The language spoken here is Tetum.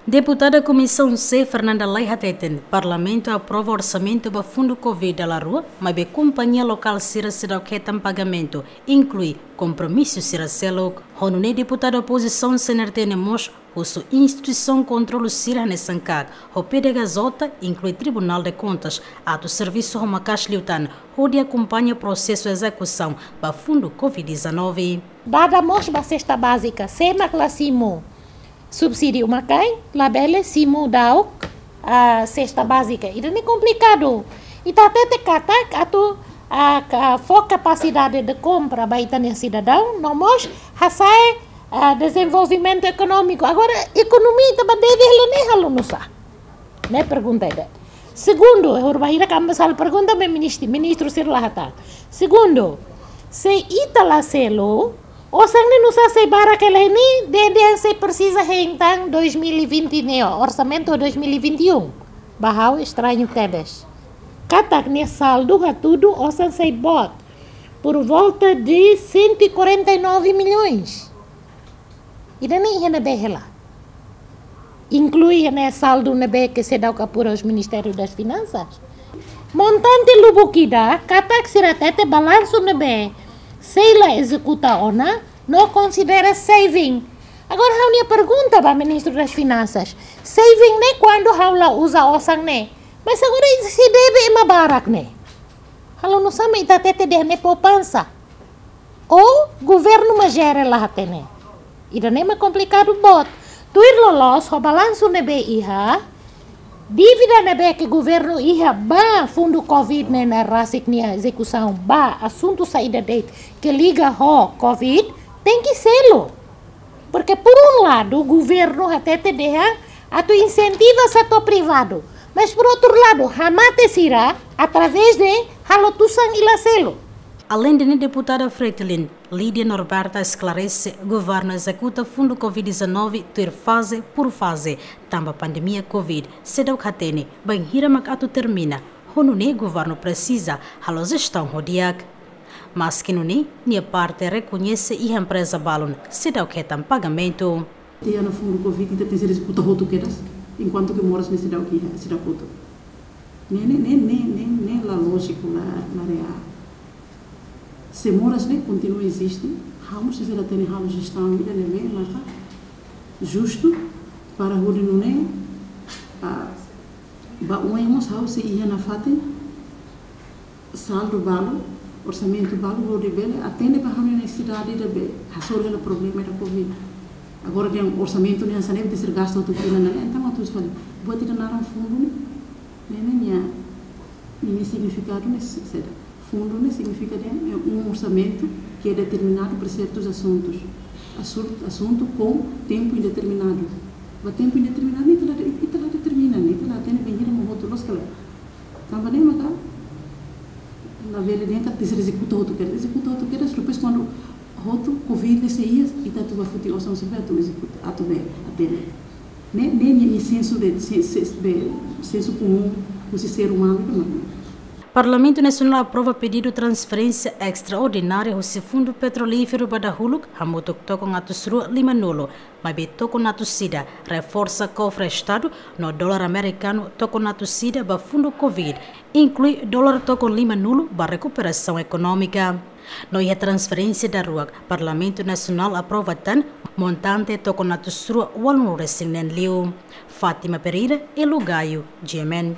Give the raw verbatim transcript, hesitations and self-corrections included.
Deputada Komisaun C, Fernanda Lay hateten, Parlamentu aprova orsamentu ba fundu covid dala rua, maibé kompañia lokál sira seidauk hetan pagamentu, inklui kompromisu sira seluk. Ho nune'e deputada opozisaun C N R T ne'e mós husu instituisaun kontrolu sira hanesan KAK, ho P D H J, inklui Tribunal de Contas, atu servisu ho maka'as liután, hodi akompaña prosesu ezekusaun ba fundu covid dezanove. Dada mós ba sesta bázika, sé mak la simu subsídiu makain, labele simu daudaun sesta bázika. Ida-ne'e komplikadu. Ita hatete katak atu, ah, ka-, fó kapasidade de kompra ba ita-nia sidadaun, no mós hasa'e, ah, dezenvolvimentu ekonómiku. Agora, ekonomia ita ba deve hela ne'e halo nusá? Ne'e pergunta ida. Segundu, ha'u bainhira kamba sala pergunta, maibé ministru, ministru sira la hatán. Segundu, se ita la selu, osan ne'e nusá sei barak hela ne'e, dehan sei presiza hein tan dois mil e vinte ne'e, orsamentu dois mil e vinte e um. Ba ha'u estrañu tebes. Katak nia saldu hatudu osan sei boot, por volta de cento e quarenta e nove milhões. Ida-ne'e iha ne'ebé hela? Inklui iha ne'e saldu ne'ebé ke seidauk apura husi Ministériu das Finansas. Montante lubuk ida, katak sira hatete balansu ne'ebé sei la ezekuta ona, no konsidera saving. Agora ha'u-nia pergunta ba Ministru das Finansas, saving ne'e kuandu ha'u la uza osan ne'e. Mas agora ita sei deve ema barak ne'e, halo nusá mak ita hatete dehan ne'e poupansa? Ou governu mak jere la hatene? Ida-ne'e mak komplikadu boot. Tuir loloos ho balansu ne'ebé iha, dívida ne'ebé ke governu iha ba fundu covid ne'e, nia rasik nia ezekusaun ba asuntu saida de'it ke liga ho covid, tenke selu. Porque por um lado governu hatete dehan atu insentiva setór privadu, mas por outro lado hamate sira através de halo tusan i la selu. Aleinde ne'e, deputada Fretilin, Lídia Norberta esklarese, governu ezekuta fundu covid dezanove tuir faze por faze, tanba pandemia covid seidauk hatene bainhira mak atu termina, ho nune'e governu presiza halo jestaun ho di'ak. Maski nune'e, nia parte rekoñese iha empreza balun seidauk hetan pagamentu. Tiha ona fundu covid, ita tenke ezekuta hotu kedas, enkuantu ke moras ne'e seidauk iha, seidauk hotu. Ne'e, ne'e, ne'e, ne'e, ne'e, ne'e la lójiku, la, la reál. Se moras ne'e kontinua eziste, ha'u mós sei la hatene halo jestaun ida ne'ebé maka justu para hodi nune'e, ah, ba oin mós ha'u sei iha nafatin saldu balu, orsamentu balu, hodi bele atende ba ha'u-nia nesesidade ida be hasoru hela problema ida covid. Agora dehan orsamentu ne'e hanesan ne'e tenke ser gastu hotu tinan ne'e, entaun atu fali buat ida naran fundu ne'e, ne'e, ne'e nia, nia signifikadu ne'e se-, saida? Fundu ne'e signifika dehan é um orçamento que é determinado para certos assuntos. Assunto, assunto com tempo indeterminado. Ba tempo indeterminado, ita la, ita la determina, ita la hatene bainhira mak hotu, loos ka lae? Tanba ne'e maka labele dehan katak tenke ser ezekuta hotu kedas, ezekuta hotu kedas, depois kuandu hotu covid ne'e sei iha, ita atu ba foti osan sira be atu ezekuta, atu be atende. Ne'e, ne'e, ne'e, ne'e sensu de, se-, se-, be, sensu komún husi ser umanu ida mak ne'e. Parlamentu Nasionál aprova pedidu transferénsia estraordinária husi Fundu Petrolíferu ba dahuluk, hamutuk tokon atus rua lima-nulu, maibé tokon atus ida reforsa kofre Estadu, no dolar amerikanu tokon atus ida ba fundu covid, inklui dolar tokon lima-nulu ba rekuperasaun ekonómika. No iha transferénsia daruak, Parlamentu Nasionál aprova tan montante tokon atus rua ualun resin neen liu. Fátima Pereira, Elo Gaio, G M N.